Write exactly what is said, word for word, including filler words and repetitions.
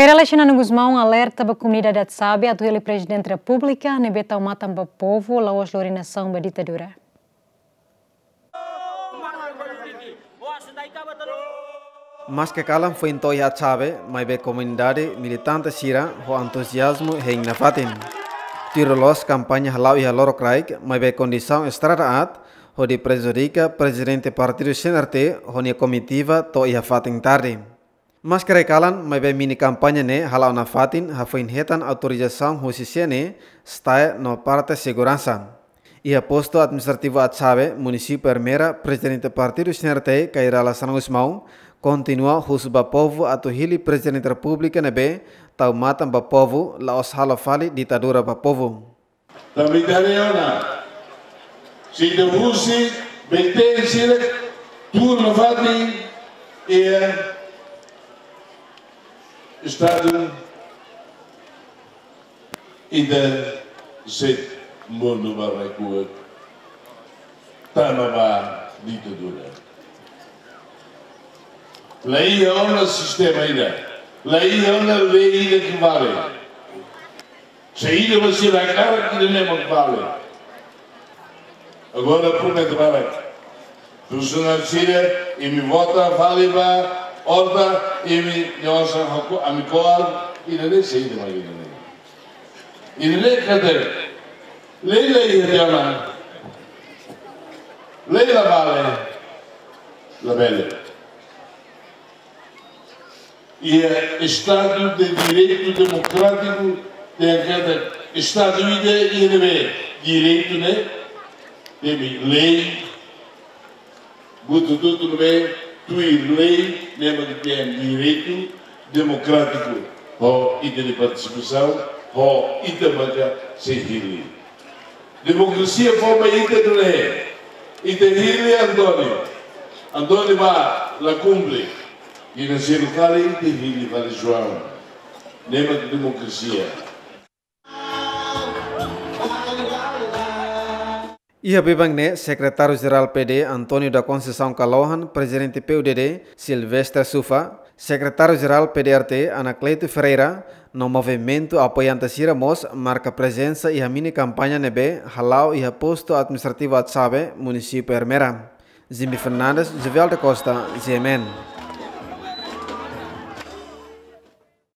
Xanana Gusmão alerta ba komunidade Atsabe atu hili Prezidente Repúblika ne'ebé tau matan ba povu, la'ós lori nasaun ba ditadura. Maske kalan foin to'o iha Atsabe, maibé komunidade, militante sira ho entuziazmu hein nafatin. Tuir loloos kampaña hala'o iha lorokraik, maibé kondisaun estrada aat hodi prejudika Prezidente Partidu C N R T ho nia komitiva to'o iha fatin tarde. Maske rai kalan, maibé mini kampaña ne'e hala'o nafatin, hafoin hetan autorizasaun husi C N E, STAE no parte seguransa. Iha postu administrativu Atsabe, munisípiu Ermera, Prezidente Partidu C N R T, Kay Rala Xanana Gusmão, kontinua husu ba povu atu hili Prezidente Repúblika ne'ebé tau matan ba povu, la'ós halo fali ditadura ba povu. Tanba ida-ne'e ona, se ita husik B T sira tuur nafatin, iha estadu ida sei mundu ba rekuat, tama ba ditadura. La iha ona sistema ida, la iha ona lei ida ke vale. Se ida ba sira hakarak, ida-ne'e mak vale. Agora promete barak. Funsionáriu sira, imi vota fali ba Horta, imi nia osan hako, ami ko'alia, ida-ne'e sei ida mak ida-ne'e. Ida-ne'e katak lei la iha tiha ona. Lei la vale, la bele. Iha Estadu de Direitu Demokrátiku, tenke katak Estadu ida iha ne'ebé direitu ne'e temi lei, buat hotu-hotu ne'ebé tuir lei, ne'e mak ita dehan direitu demokrátiku, ho ita-nia partisipasaun, ho ita maka sei hili. Demokrasia fó ba ita duni, ita hili António, António bá la kumpre, i na selu fali ita hili fali João. Ne'e mak demokrasia. Iha biban ne'e, Sekretáriu Jerál P D, António da Conceição Kalohan, Prezidente P U D D, Silvestre Sufa, Sekretáriu Jerál P D R T, Anacleto Ferreira, no movimentu apoiante sira mós marka prezensa iha mini kampaña ne'ebé hala'o iha postu administrativu Atsabe, munisípiu Ermera. Jimmy Fernandes, Jovial da Costa, G M N.